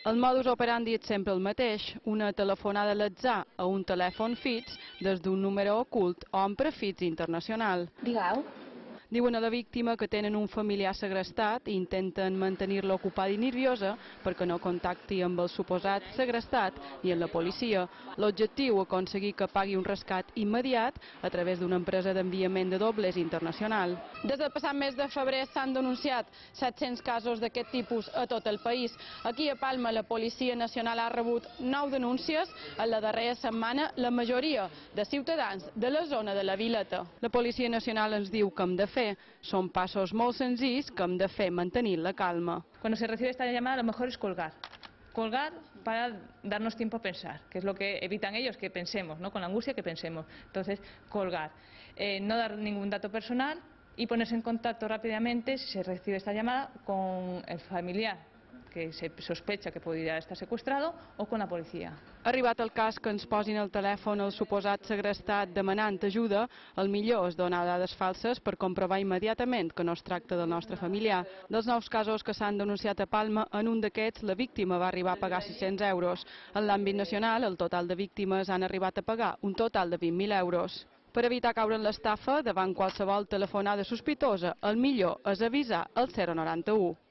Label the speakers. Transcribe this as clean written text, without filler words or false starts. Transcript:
Speaker 1: El modus operandi és sempre el mateix, una telefonada a l'atzar a un telèfon fix des d'un número ocult o amb prefix internacional.
Speaker 2: Digueu.
Speaker 1: Diuen a la víctima que tenen un familiar segrestat i intenten mantenir-la ocupada i nerviosa perquè no contacti amb el suposat segrestat ni amb la policia. L'objectiu, aconseguir que pagui un rescat immediat a través d'una empresa d'enviament de dobles internacional. Des del passat mes de febrer s'han denunciat 700 casos d'aquest tipus a tot el país. Aquí a Palma la Policia Nacional ha rebut 9 denúncies en la darrera setmana, la majoria de ciutadans de la zona de la Vileta. La Policia Nacional ens diu que hem de fer. Són passos molt senzills que hem de fer mantenir la calma.
Speaker 3: Cuando se recibe esta llamada, lo mejor es colgar. Colgar para darnos tiempo a pensar, que es lo que evitan ellos, que pensemos, ¿no? Con la angustia que pensemos. Entonces, colgar. No dar ningún dato personal y ponerse en contacto rápidamente, si se recibe esta llamada, con el familiar que se sospecha que podria estar secuestrado o con la policia.
Speaker 1: Arribat el cas que ens posin al telèfon el suposat segrestat demanant ajuda, el millor és donar dades falses per comprovar immediatament que no es tracta del nostre familiar. Dels 9 casos que s'han denunciat a Palma, en un d'aquests la víctima va arribar a pagar 600 euros. En l'àmbit nacional, el total de víctimes han arribat a pagar un total de 20.000 euros. Per evitar caure en l'estafa, davant qualsevol telefonada sospitosa, el millor és avisar al 091.